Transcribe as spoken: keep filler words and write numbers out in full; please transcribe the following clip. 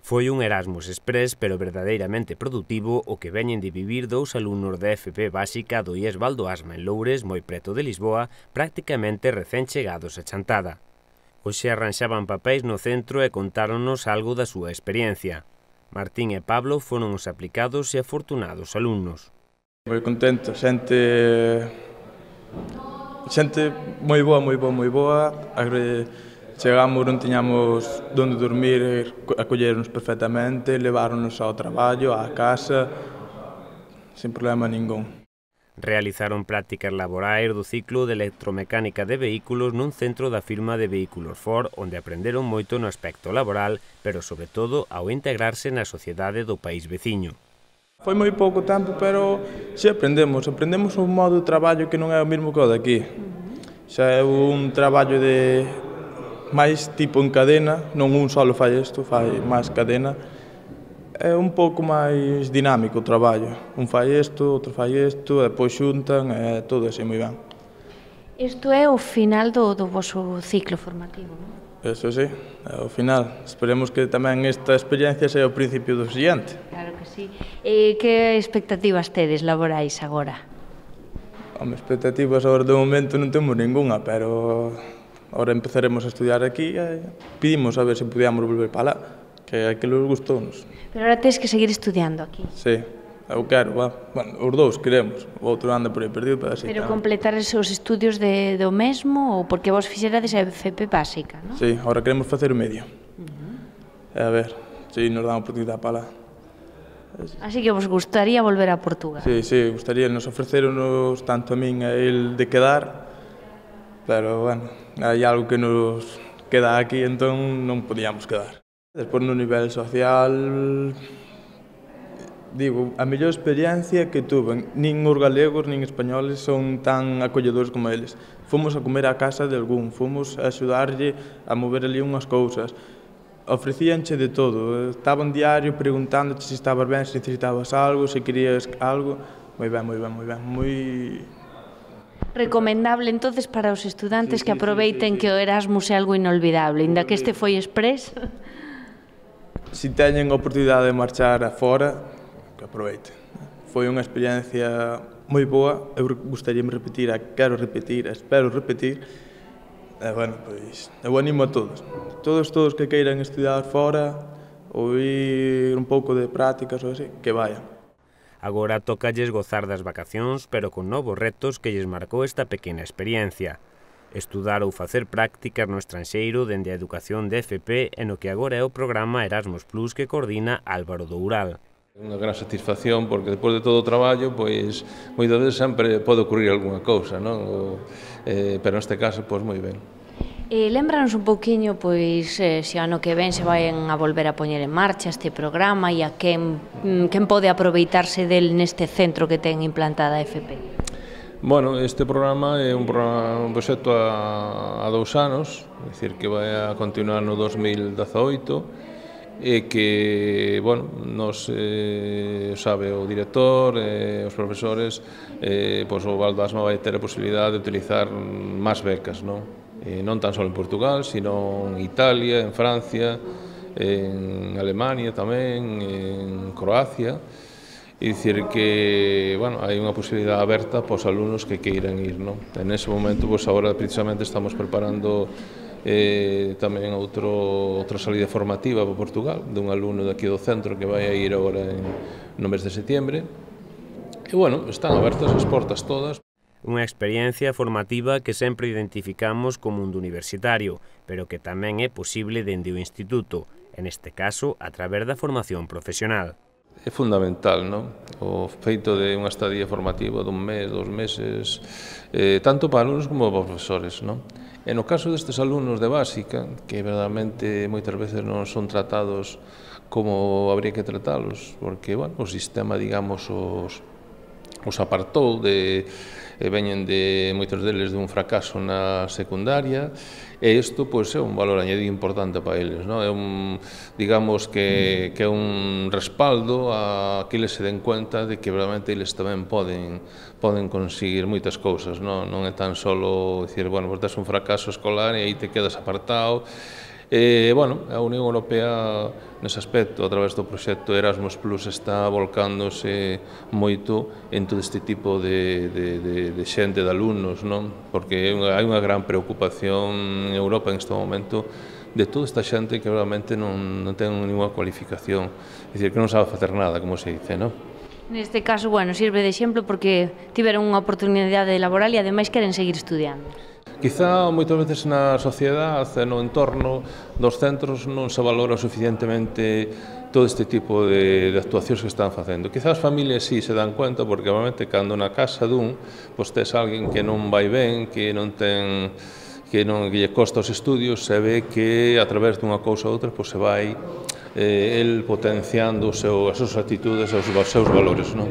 Foi un Erasmus Express, pero verdadeiramente produtivo, o que veñen de vivir dous alumnos da F P básica do I E S Valdoasma en Loures, moi preto de Lisboa, prácticamente recén chegados a Chantada. Hoxe arranxaban papéis no centro e contáronnos algo da súa experiencia. Martín e Pablo foron os aplicados e afortunados alumnos. Moi contento, xente xente moi boa, moi boa, moi boa. Chegamos, non tiñamos onde dormir, acolleronos perfectamente, leváronos ao traballo, á casa, sen problema ningún. Realizaron prácticas laborais do ciclo de electromecánica de vehículos nun centro da firma de vehículos Ford, onde aprenderon moito no aspecto laboral, pero sobre todo ao integrarse na sociedade do país veciño. Foi moi pouco tempo, pero xa aprendemos, aprendemos un modo de traballo que non é o mesmo que o daqui. Xa é un traballo de máis tipo en cadena, non un solo fai isto, fai máis cadena. É un pouco máis dinámico o traballo. Un fai isto, outro fai isto, e depois xuntan, e todo así moi ben. Isto é o final do, do vosso ciclo formativo, non? Eso sí, é o final. Esperemos que tamén esta experiencia sea o principio do siguiente. Claro que sí. E que expectativas tedes laborais agora? Home, expectativas agora de momento non temos ninguna, pero agora empezaremos a estudiar aquí e pedimos a ver se podíamos volver para lá, que aquilo gustounos. Pero agora tens que seguir estudiando aquí. Sí, eu quero, va. Bueno, os dous queremos, o outro anda por aí perdido, pero así. Pero completar os estudios de, do mesmo, ou porque vos fixerades a F P básica, non? Sí, agora queremos facer o medio. Uh-huh. A ver, se si nos dá a oportunidade para lá. Así que vos gustaría volver a Portugal? Sí, sí, gustaría, nos ofreceronos tanto a min e a el de quedar, pero, bueno, hai algo que nos queda aquí, entón non podíamos quedar. Despois, no nivel social, digo, a mellor experiencia que tuve, nin os galegos nin españoles son tan acolledores como eles. Fomos a comer á casa de algún, fomos a axudarlle a mover ali unhas cousas. Ofrecíanche de todo, estaban diario preguntándote se estabas ben, se necesitabas algo, se querías algo. Moi ben, moi ben, moi ben, moi... Recomendable, entonces, para os estudantes sí, que sí, aproveiten sí, sí, que o Erasmus é algo inolvidable, inda que este foi express. Se teñen a oportunidade de marchar afora, que aproveiten. Foi unha experiencia moi boa, eu gustaríame repetir, quero repetir, espero repetir. E, bueno, pois, eu animo a todos. Todos, todos que queiran estudiar fora ou ir un pouco de prácticas ou así, que vayan. Agora tocalles gozar das vacacións, pero con novos retos que lles marcou esta pequena experiencia. Estudar ou facer prácticas no estranxeiro dende a educación de F P e no que agora é o programa Erasmus Plus que coordina Álvaro Doural. Unha gran satisfacción porque despois de todo o traballo, pois, moitas veces sempre pode ocurrir algunha cousa, non? O, eh, pero neste caso, pois, moi ben. E lembranos un pouquiño, pois, eh, se ano que ven se vayan a volver a poñer en marcha este programa e a quen, quen pode aproveitarse del neste centro que ten implantada a F P. Bueno, este programa é un, programa, un proxecto a, a dous anos, é dicir, que vai a continuar no dos mil dezaoito, e que, bueno, nos eh, sabe o director e eh, os profesores, eh, pois o Valdoasma vai ter a posibilidade de utilizar máis becas, non? Eh, non tan só en Portugal, sino en Italia, en Francia, en Alemania tamén, en Croacia. É dicir que, bueno, hai unha posibilidade aberta para os alumnos que queiran ir, non? En ese momento, pois agora precisamente estamos preparando eh, tamén outro, outra salida formativa para Portugal, dun alumno daqui do centro que vai a ir agora en, no mes de setembro. E, bueno, están abertas as portas todas. Unha experiencia formativa que sempre identificamos como mundo universitario, pero que tamén é posible dende o instituto, en este caso a través da formación profesional. É fundamental, non? O feito de unha estadía formativa dun mes, dos meses, eh, tanto para alumnos como para profesores, non? E no caso destes alumnos de básica, que verdadeiramente moitas veces non son tratados como habría que tratalos, porque, bueno, o sistema, digamos, os, os apartou de... e veñen de moitos deles dun fracaso na secundaria e isto pois é un valor añadido importante para eles, non? É un, digamos que, que é un respaldo a que eles se den cuenta de que realmente eles tamén poden poden conseguir moitas cousas, non? Non é tan solo dicir, bueno, pues tes un fracaso escolar e aí te quedas apartado E, bueno, a Unión Europea nese aspecto, a través do proxecto Erasmus Plus, está volcándose moito en todo este tipo de, de, de, de xente, de alumnos, non? Porque hai unha gran preocupación en Europa en este momento de toda esta xente que realmente non, non ten ninguna cualificación, é dicir, que non sabe facer nada, como se dice, non? Neste caso, bueno, sirve de exemplo porque tiveron unha oportunidade laboral e ademais queren seguir estudiando. Quizá moitas veces na sociedade, no entorno dos centros, non se valora suficientemente todo este tipo de, de actuacións que están facendo. Quizá as familias sí se dan cuenta, porque realmente cando na casa dun, pois tes alguén que non vai ben, que non ten que non que lle costa os estudios, se ve que a través dunha cousa ou outra pois se vai eh, el potenciando o seu, as súas actitudes, os seus valores, non?